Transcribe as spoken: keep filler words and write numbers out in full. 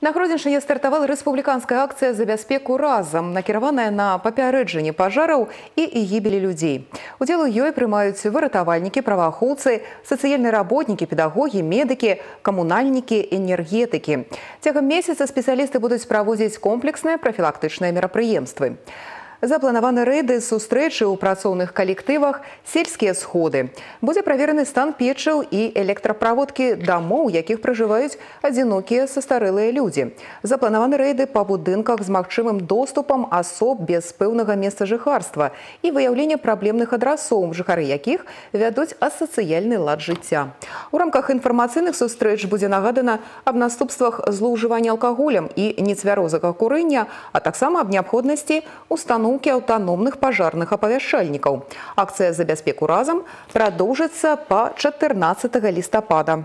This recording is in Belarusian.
На Гродзеншчыне стартавала рэспубліканская акцыя за бяспеку разам, накіраваная на папярэджанне пажараў і гібелі людзей. Удзел у ёй прымаюць выратавальнікі, праваахоўцы, сацыяльныя работнікі, педагогі, медыкі, камунальнікі, энергетыкі. Цягам месяца спецыялісты будуць праводзіць комплексныя прафілактычныя мерапрыемствы. Запланаваны рэйды, сустрэчы ў працоўных калектывах, сельскія сходы. Будзе правераны стан печаў і электраправодкі дамоў, у якіх пражываюць адзінокія састарэлыя людзі. Запланаваны рэйды па будынках з магчымым доступам асоб без пэўнага месца жыхарства і выяўленне праблемных адрасоў, жыхары якіх вядуць асацыяльны лад жыцця. У рамках інфармацыйных сустрэч будзе нагадана аб наступствах злоўжывання алкаголем і нецвярозага курэння, а таксама аб неабходнасці установкі аўтаномных пажарных апавяшчальнікаў. Акцыя за бяспеку разам прадоўжыцца па чатырнаццатага лістапада.